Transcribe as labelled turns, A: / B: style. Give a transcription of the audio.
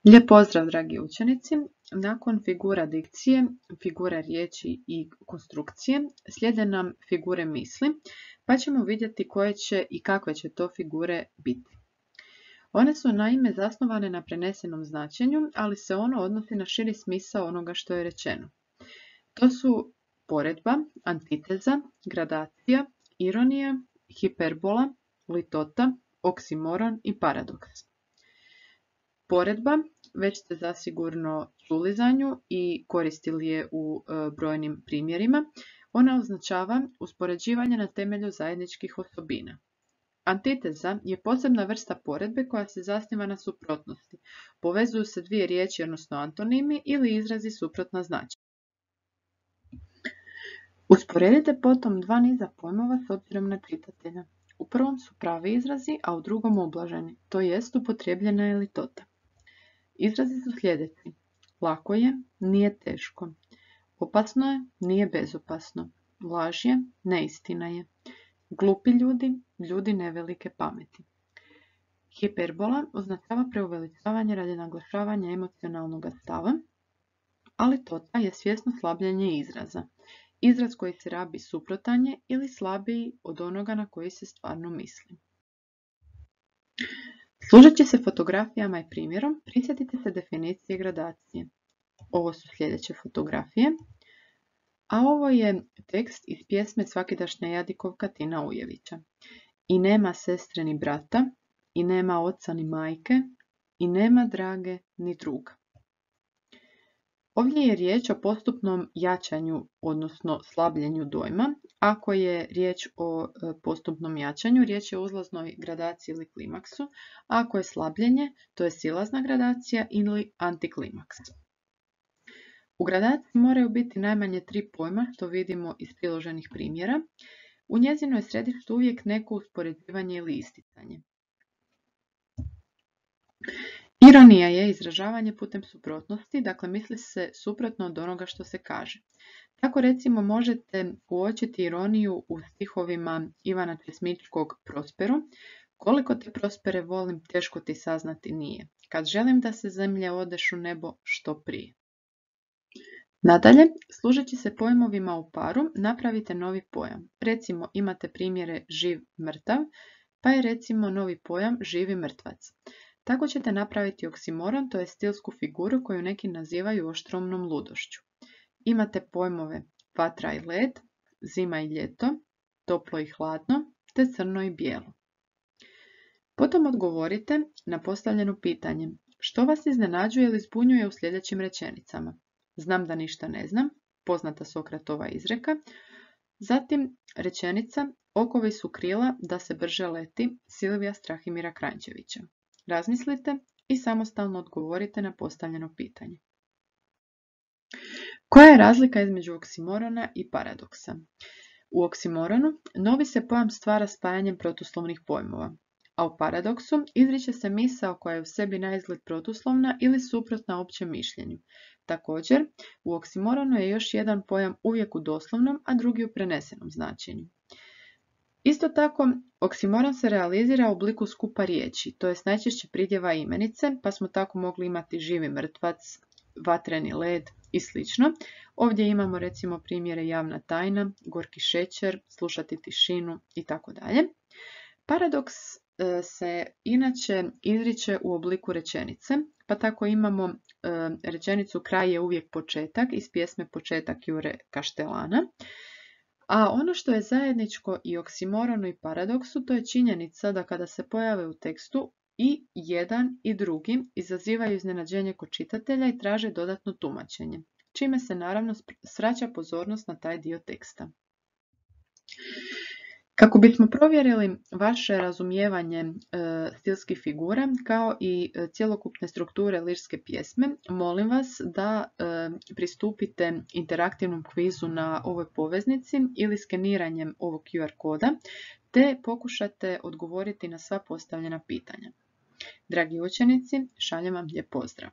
A: Lijep pozdrav, dragi učenici! Nakon figura dikcije, figura riječi i konstrukcije slijede nam figure misli, pa ćemo vidjeti koje će i kakve će to figure biti. One su naime zasnovane na prenesenom značenju, ali se ono odnosi na širi smisao onoga što je rečeno. To su poredba, antiteza, gradacija, ironija, hiperbola, litota, oksimoron i paradoks. Poredba, već ste zasigurno čuli za nju i koristili je u brojnim primjerima. Ona označava uspoređivanje na temelju zajedničkih osobina. Antiteza je posebna vrsta poredbe koja se zasniva na suprotnosti. Povezuju se dvije riječi, odnosno antonimi ili izrazi suprotna značenja. Usporedite potom dva niza pojmova s obzirom na čitatelja. U prvom su pravi izrazi, a u drugom ublaženi, to jest upotrijebljena je litota. Izrazi su sljedeći: lako je, nije teško; opasno je, nije bezopasno; laž je, neistina je; glupi ljudi, ljudi nevelike pameti. Hiperbola označava preuveličavanje radi naglašavanja emocionalnog stava, a litota je svjesno slabljenje izraza. Izraz koji se rabi suprotan je ili slabiji od onoga na koji se stvarno misli. Služeći se fotografijama i primjerom, prisjetite se definicije gradacije. Ovo su sljedeće fotografije, a ovo je tekst iz pjesme Svakidašnja jadikovka Tina Ujevića. I nema sestre ni brata, i nema oca ni majke, i nema drage ni druga. Ovdje je riječ o postupnom jačanju, odnosno slabljenju dojma. Ako je riječ o postupnom jačanju, riječ je o uzlaznoj gradaciji ili klimaksu. Ako je slabljenje, to je silazna gradacija ili antiklimaks. U gradaciji moraju biti najmanje 3 pojma, što vidimo iz priloženih primjera. U njezinoj središtu uvijek neko uspoređivanje ili isticanje. Ironija je izražavanje putem suprotnosti, dakle misli se suprotno od onoga što se kaže. Tako recimo možete uočiti ironiju u stihovima Ivana Česmičkog Prosperu. Koliko te Prospere volim, teško ti saznati nije. Kad želim da se zemlje odeš u nebo, što prije. Nadalje, služeći se pojmovima u paru, napravite novi pojam. Recimo imate primjere živ, mrtav, pa je recimo novi pojam živi mrtvac. Tako ćete napraviti oksimoron, to je stilsku figuru koju neki nazivaju oštromnom ludošću. Imate pojmove vatra i led, zima i ljeto, toplo i hladno, te crno i bijelo. Potom odgovorite na postavljeno pitanje: što vas iznenađuje ili zbunjuje u sljedećim rečenicama? Znam da ništa ne znam, poznata Sokratova izreka. Zatim rečenica: okovi su krila da se brže leti, Silvija Strahimira Kranjčevića. Razmislite i samostalno odgovorite na postavljeno pitanje. Koja je razlika između oksimorona i paradoksa? U oksimoronu novi se pojam stvara spajanjem protuslovnih pojmova, a u paradoksu izriče se misao koja je u sebi naizgled protuslovna ili suprotna općem mišljenju. Također, u oksimoronu je još jedan pojam uvijek u doslovnom, a drugi u prenesenom značenju. Isto tako, oksimoron se realizira u obliku skupa riječi, to jest najčešće pridjeva imenice, pa smo tako mogli imati živi mrtvac, vatreni led i sl. Ovdje imamo recimo primjere javna tajna, gorki šećer, slušati tišinu itd. Paradoks se inače izriče u obliku rečenice, pa tako imamo rečenicu kraj je uvijek početak iz pjesme Početak Jure Kaštelana. A ono što je zajedničko i oksimoronu i paradoksu, to je činjenica da kada se pojave u tekstu i jedan i drugi izazivaju iznenađenje kod čitatelja i traže dodatno tumačenje, čime se naravno svraća pozornost na taj dio teksta. Kako bismo provjerili vaše razumijevanje stilskih figura kao i cjelokupne strukture lirske pjesme, molim vas da pristupite interaktivnom kvizu na ovoj poveznici ili skeniranjem ovog QR koda, te pokušate odgovoriti na sva postavljena pitanja. Dragi učenici, šaljem vam lijep pozdrav!